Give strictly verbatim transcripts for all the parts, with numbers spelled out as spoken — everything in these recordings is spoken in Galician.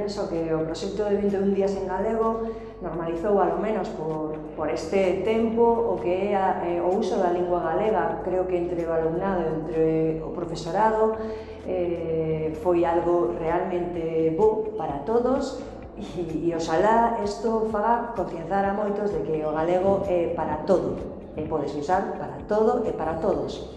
penso que o proxecto de vinte e un días en galego normalizou, alo menos por, por este tempo, o que é a, eh, o uso da lingua galega. Creo que entre o alumnado e entre o profesorado eh, foi algo realmente bo para todos, e, e oxalá isto faga concienciar a moitos de que o galego é para todo, e podes usar para todo e para todos.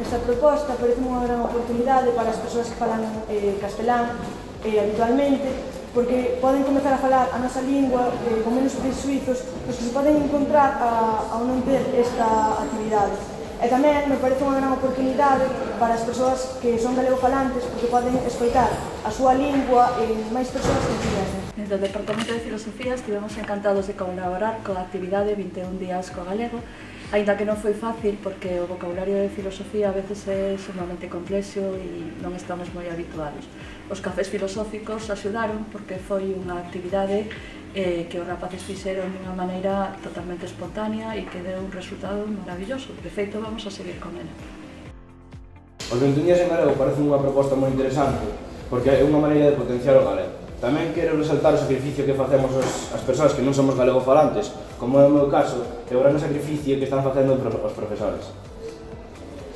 Esta proposta parece unha gran oportunidade para as persoas que falan eh, castelán eh, habitualmente, porque poden comezar a falar a nosa lingua eh, con menos presuizos os que se poden encontrar a, ao non ter esta actividade. E tamén me parece unha gran oportunidade para as persoas que son galegofalantes, porque poden escoitar a súa lingua en máis persoas que quieren. Desde o Departamento de Filosofía estivemos encantados de colaborar coa actividade vinte e un días co galego, aínda que non foi fácil porque o vocabulario de filosofía a veces é sumamente complexo e non estamos moi habituados. Os cafés filosóficos axudaron porque foi unha actividade eh, que os rapaces fixeron de unha maneira totalmente espontánea e que deu un resultado maravilloso. De feito, vamos a seguir con ela. Os vinte e un días en galego parece unha proposta moi interesante porque é unha maneira de potenciar o galego. Tamén quero resaltar o sacrificio que facemos as persoas que non somos galegofalantes, como é o meu caso, e o gran sacrificio que están facendo os profesores.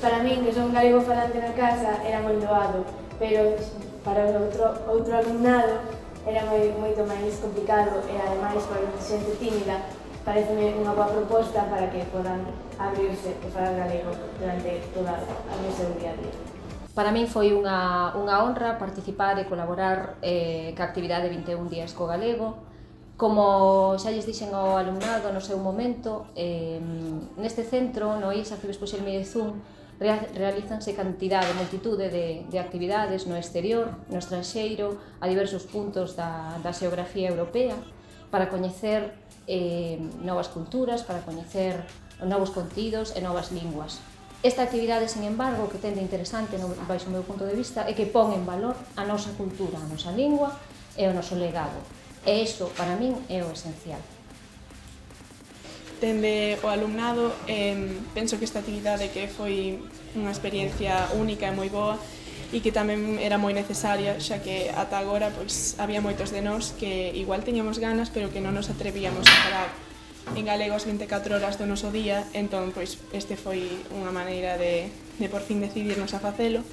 Para min, que son galegofalante na casa, era moi doado, pero para o outro, outro alumnado era moi, moito máis complicado e, ademais, para xente tímida, pareceme unha boa proposta para que podan abrirse e falar galego durante toda a seu día a día. Para min foi unha, unha honra participar e colaborar eh, ca actividade vinte e un días co galego. Como xa lles dixen ao alumnado no seu momento, eh, neste centro, no I S Arcebispo Xelmi de Zun, realízanse cantidade, multitude de, de actividades no exterior, no estranxeiro, a diversos puntos da, da xeografía europea, para coñecer eh, novas culturas, para coñecer novos contidos e novas linguas. Esta actividade, sin embargo, que ten de interesante, no, baixo o meu punto de vista, é que pon en valor a nosa cultura, a nosa lingua e o noso legado. E iso, para min, é o esencial. Dende o alumnado, eh, penso que esta actividade que foi unha experiencia única e moi boa e que tamén era moi necesaria, xa que ata agora pois, había moitos de nós que igual teñamos ganas, pero que non nos atrevíamos a falar en galego as vinte e catro horas do noso día, entón pois este foi unha maneira de, de por fin decidirnos a facelo.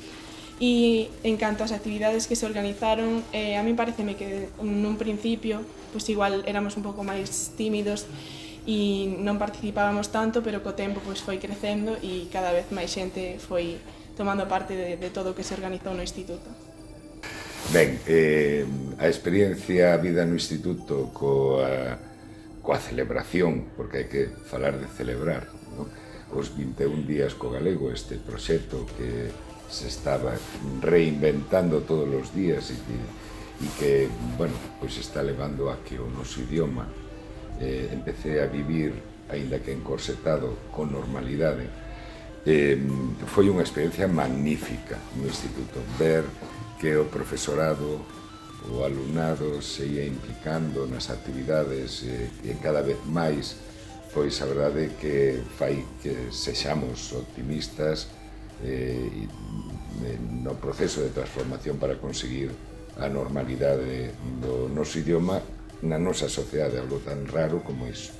E en canto ás actividades que se organizaron, eh, a mí pareceme que nun principio pois igual éramos un pouco máis tímidos e non participábamos tanto, pero co tempo pois foi crecendo e cada vez máis xente foi tomando parte de, de todo o que se organizou no Instituto. Ben, eh, a experiencia a vida no Instituto coa coa celebración, porque hai que falar de celebrar, non? Os vinte e un días co galego, este proxecto que se estaba reinventando todos os días e que, e que bueno, pois está levando a que o noso idioma eh, empecé a vivir, aínda que encorsetado, con normalidade. Eh, foi unha experiencia magnífica no Instituto, ver que o profesorado, o alumnado se ia implicando nas actividades e, e cada vez máis, pois a verdade é que fai que sexamos optimistas eh, no proceso de transformación para conseguir a normalidade do noso idioma na nosa sociedade, algo tan raro como iso.